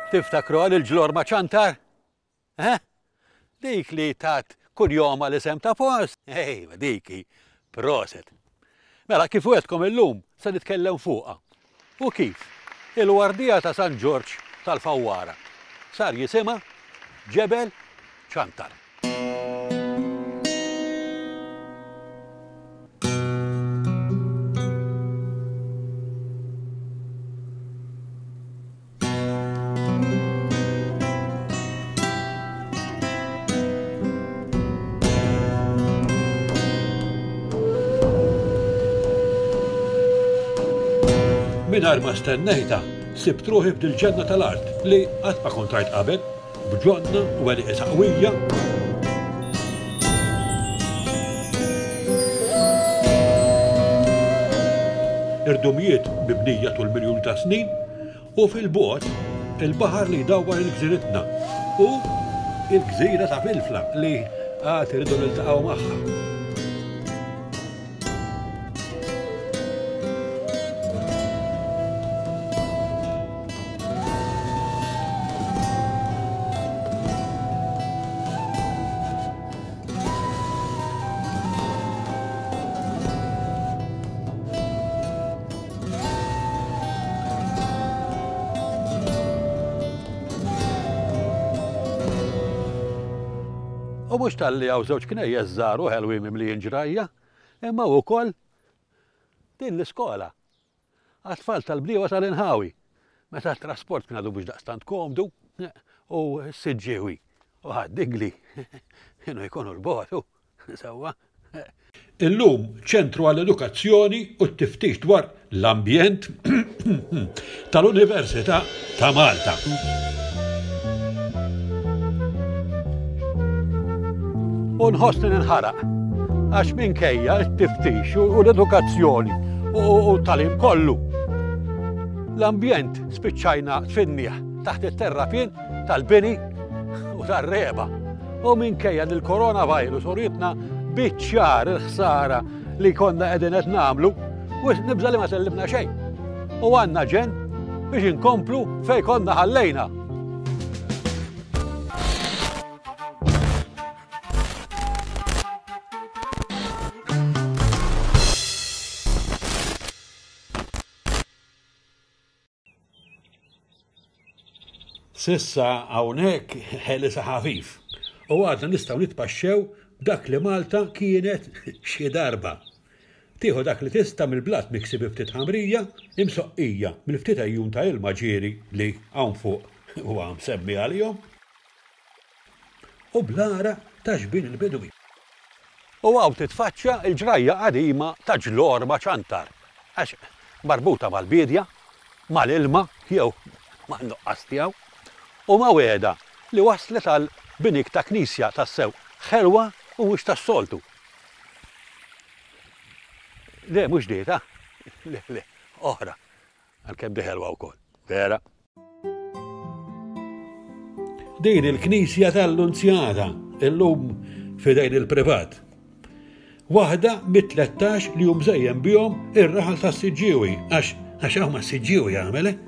Tiftakru għal il-ġlor ma' ċantar? Eh? Dik li tat kunjoma l-isem ta' post? Ejwa, dik hi. Proset. Mela, kif wegħedtkom illum se nitkellem fuqha. U kif il-Wardija ta' San Ġorġ tal-Fawwara sar jisimha Ġebel Ċantar. Mingħajr ma stennejtha, sibt ruħi f'dil-ġenna tal-art li qatt ma kont rajt qabel, b'ġonna u għelieqi saqwija, irdumijiet mibnija tul miljuni ta' snin, U fil-bogħod, il-baħar li jdawwar il-gżiritna u l-gżira ta' Filfla li għad irridu niltaqgħu magħha. U mhux talli hawn żewġ knejjes żgħar u ħelwin mimlijin ġrajja, imma wkoll din l-iskola għat-tfal tal-bdiewa tal-inħawi, meta t-trasport kien għadu mhux daqstant komdu u s-Siġġiewi u Ħad-Dingli kienu jkunu 'l bogħod. Sewwa. Illum ċentru għall-edukazzjoni u t-tiftix dwar l-ambjent tal-Università ta' Malta. U nħossni ninħaraq għax minkejja t-tiftix u l-edukazzjoni u t-tagħlim kollu. L-ambjent spiċċajna tfinnieh taħt it-terrapien tal-bini u tar-regħba. U minkejja li l-coronavirus urietna biċ-ċar il-ħsara li konna qegħdin qed nagħmlu, wisq nibża' li ma tellibna xejn. U għandna ġenn biex inkomplu fejn konna ħallejna. S'issa hawnhekk ħelisa ħafif u għadna nistgħu nitpaxxew b'dak li Malta kienet xi darba. Tieħu dak li tista' mill-blat miksi bi ftit ħamrija imsoqqija mill-ftit għejun ta' ilma ġieri li hawn fuq huwa msemmi għalihom. U bl-għara ta' xbin il-bidwi. U hawn titfaċċa l-ġrajja qadima ta' Ġlorma Ċantar, għax marbuta mal-biedja, mal-ilma jew man-nuqqas tiegħu, u ma' wegħda li wasslet għal binik ta' knisja tassew ħelwa u mhux tas-soltu. Le, mhux dieta, le, le, oħra, għalkemm di ħelwa wkoll, vera. Din il-knisja tal-Lunzjata, illum f'idejn il-privat. Waħda mit-13 li hu mżejjen bihom ir-raħal tas-Siġġiewi, għax għax hawn mas-Siġġiewi jagħmel, eh?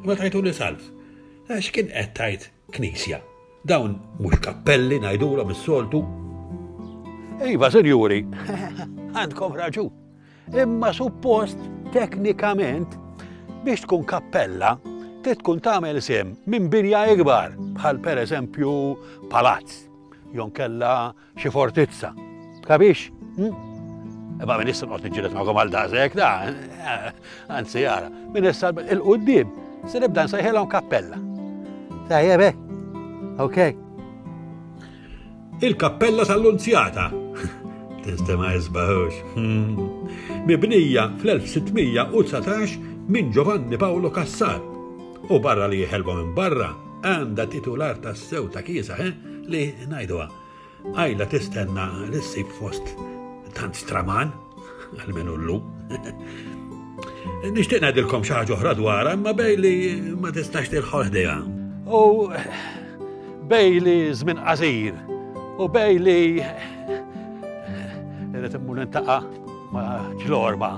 Imma tajtuli salv. Għax kien qed tgħid knisja. Dawn mhux kappelli ngħidulhom is-soltu. Iva, sinjuri, għandkom raġun. Imma suppost teknikament biex tkun kappella trid tkun tagħmel sehem minn binja ikbar bħal pereżempju palazz jew kella xi fortizza. Kabix? Hm? Imma minn issa noqgħod niġġieled magħkom għal daqshekk, da, anzi ara, minn issa il-qudiem se nibda nsejħilhom kappella. Tajjeb, eh? Ok. Il-Kappella tal-Lunzjata. Tinstema' isbaħ hux. Hmm. Mibnija fl-1619 minn Giovanni Paolo Cassar. U barra li ħelwa minn barra, għandha titular tas-sew ta' kiesa, eh, li ngħiduha. Għajla tistenna li ssib fost tant straman, għalmenu llum. Nixtieq ngħidilkom xi ħaġa oħra dwarha, imma bej li ma tistax tilħol ħdejha. U bej li żmien qasir u bej li irrid immur nintaqa' ma' ġlorma.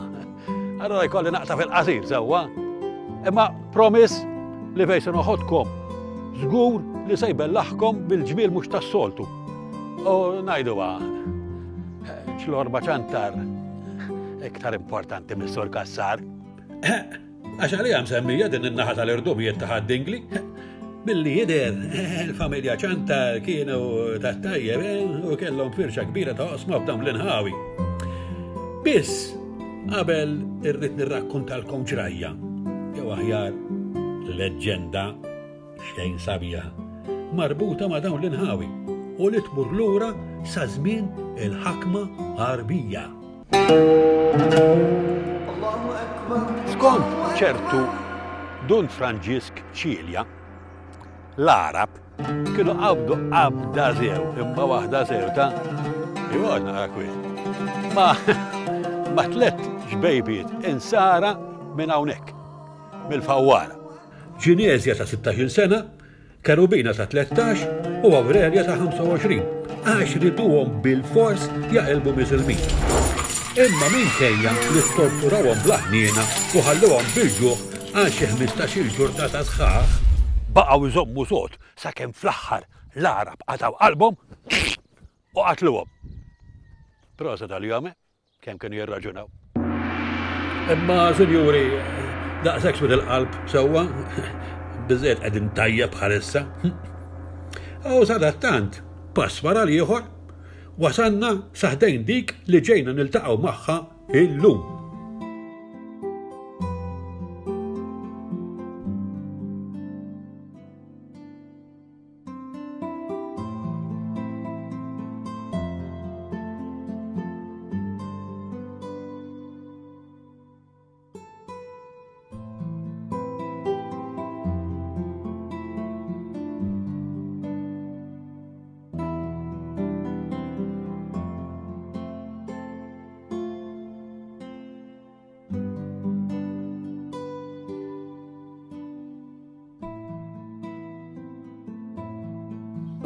Allora jkolli naqta' fil-qasir sewwa. Imma promise li fejn se noħodkom. Żgur li se jbellaħkom bil-ġmiel mhux tas-soltu. U ngħiduha, ċlorba ċantar iktar importanti mis-Sur Cassar. Għax għalija msemmija din in-naħa tal-irdumijiet ta' Ħad-Dingli. Milli jidher, il-familja Ċantar kienu tat-tajjeb eh, u kellhom firxa kbira ta' oqsma f'dawn l-inħawi. Biss, qabel irrid nirrakkontalkom ġrajja, jew aħjar leġġenda xejn sabiħa, marbuta ma' dawn l-inħawi u li tmur lura sa żmien il-ħakma Għarbija. Skont ċertu Dun Franġisk Cilia, l-Għarab kienu qabdu qabda sew, imma waħda sew ta' jgħod naqra kwiet. Ma ma tlett ġbejbiet insara minn hawnhekk, mill-Fawwara. Ġineżja ta' 16 sena Kerubina ta' 13 u Awrelja ta' 25, għax riduhom bilfors jaqilbu Misilmin. Imma minkejja li ttorturawhom bla ħniena u ħallewhom bil-ġuħ għal xi ħmistax-il ġurnata sħaħ, baqgħu jżommu sod sakemm fl-aħħar l-Għarab qatgħu qalbhom u qatluhom. Proset għalihom, eh? Kemm kienu jirraġunaw. Imma, sinjuri, daqshekk swed il-qalb sewwa, biżejjed qegħdin tajjeb bħalissa. U sadattant, pass wara l-ieħor, wasalna sa ħdejn dik li ġejna niltaqgħu magħha illum.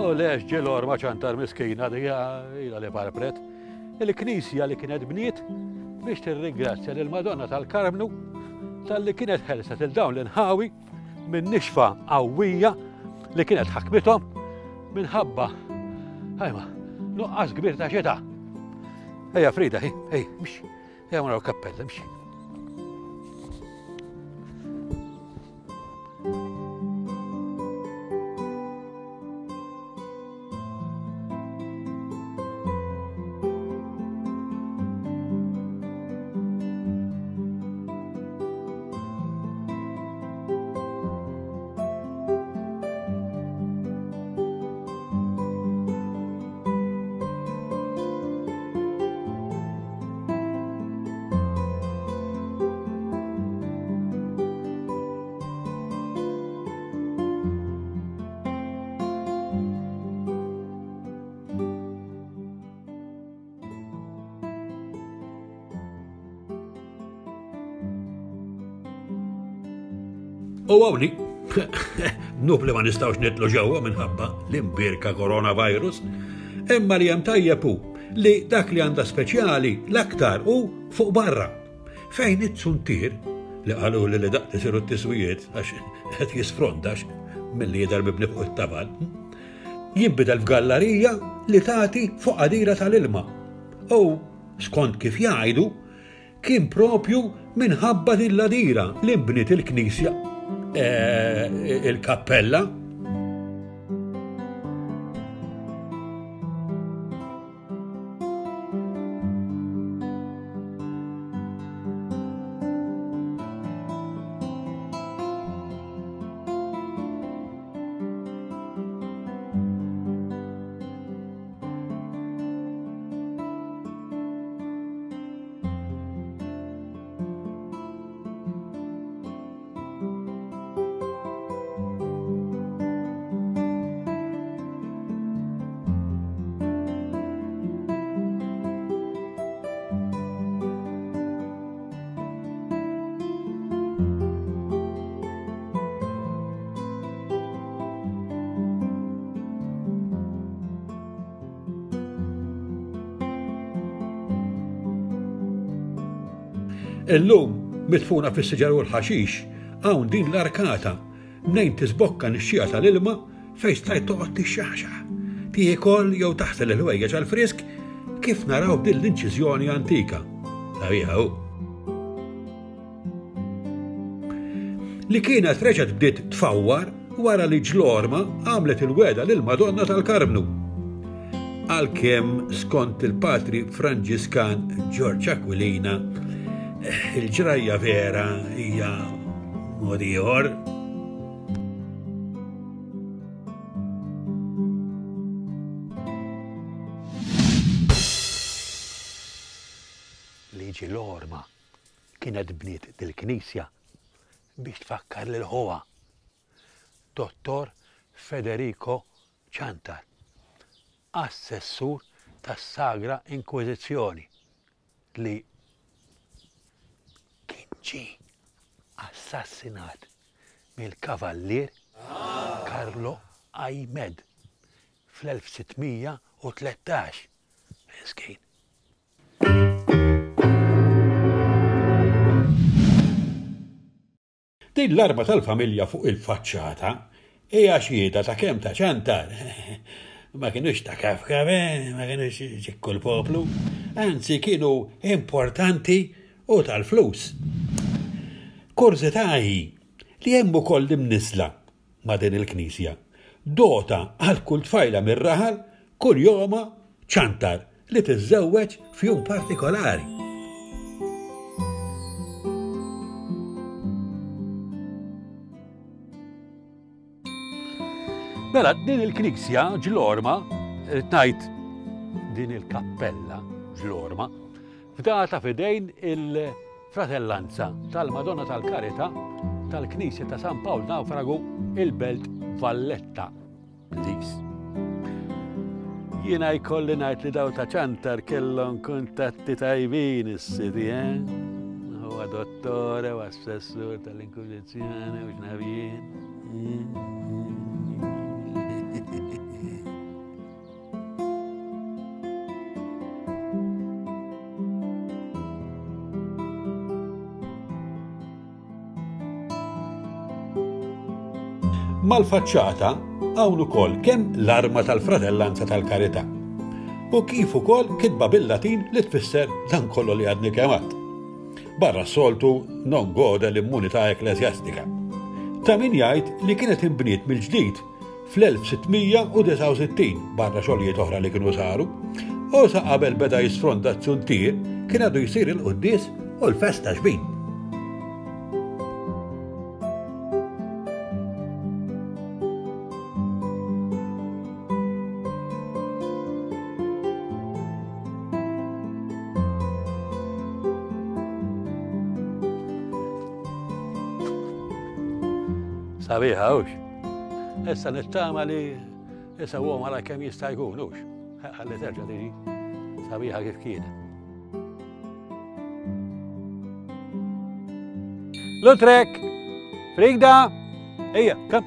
U lex ġelor ma ċantar miskina dija ila li parpret. Il-knisja li kienet bniet biex tirringrazzja lil Madonna tal-Karmnu tal-li kienet ħelset il dawn l-inħawi minn nixfa qawwija li kienet ħakmithom minħabba ħajma nuqqas kbir ta' xita. Ejja Frida, ej, ej, mxi. Ejja naraw kappella, mxi. U għawni, dnub li ma nistawx nitlu ġewwa minħabba l-imbirka coronavirus, imma li hemm tajjeb hu li dak li għandha speċjali l-aktar hu fuq barra. Fejn it-suntier li qalu li li daqt isiru t-tiswijiet għax qed jisfrondax milli jidher mibni fuq it-tabal, jinbidel f'gallarija li tagħti fuq għadira tal-ilma. U skont kif jgħidu, Kien propju minħabba din l-għadira li nbniet il-knisja, eh, il-kappella. Illum, midfuna fis-siġar u l-ħaxix, hawn din l-arkata mnejn tisbokka nixxiegħa tal-ilma fejn stajt toqgħod tixxaħxaħ, tiekol jew taħsel il-ħwejjeġ għall-frisk kif naraw din l-inċiżjoni antika. Sabiħa hu. Li kienet reġgħet bdiet tfawwar wara li ġlorma għamlet il-wegħda lill-Madonna tal-Karmnu. Għalkemm skont il-patri Franġiskan Ġorġ Aquilina, il-ġrajja vera hija mod ieħor. Li ġilorma kienet bniet dil-knisja biex tfakkar lil ħuha, Dottor Federico Ciantar, assessur tas-Sagra Inkwiżizzjoni li kien ġie assassinat mill-Kavallier Carlo Aymed fl-1613. Miskin. Din l-arma tal-familja fuq il-faċċata hija xhieda ta' kemm ta' ċantar. Ma kinux ta' kafkaf, eh, ma kinux ċikku l-poplu, anzi kienu importanti u tal-flus. Kurżità hi li hemm ukoll imniżżla ma' din il-knisja. Dota għal kull tfajla mir-raħal kunjomha Ciantar li tiżżewweġ f'jum partikolari. Mela, din il-knisja ġlorma, ngħid din il-kappella ġlorma, fdata f'idejn il-Fratellanza tal-Madonna tal-Karità tal-Knisja ta' San Pawl Nawfragu il-Belt Valletta. Please. Jiena jkolli ngħid li daw ta' ċantar kellhom kuntatti tajbin is-sidi, eh? Huwa dottore u assessur tal-Inkwiżizzjoni u x'naf jien. Mal-faċċata hawn ukoll kemm l-arma tal-Fratellanza tal-Karità u kif ukoll kitba bil-Latin li tfisser dan kollu li għadni kemm għadt. Barra s-soltu non gode l-immunità ekkleżjastika. Ta' min jgħid li kienet inbniet mill-ġdid fl-1669 barra xogħlijiet oħra li kienu saru, u sa qabel beda jisfronda z-zuntier kien għadu jsir il-quddies u l-festa xbin. Sabiħa, hux? Issa nittama li isewwhom għala kemm jista' jkun, hux? Ħalli terġa' tiġi sabiħa kif kienet. Lutrek! Frigda! Ejja, kam!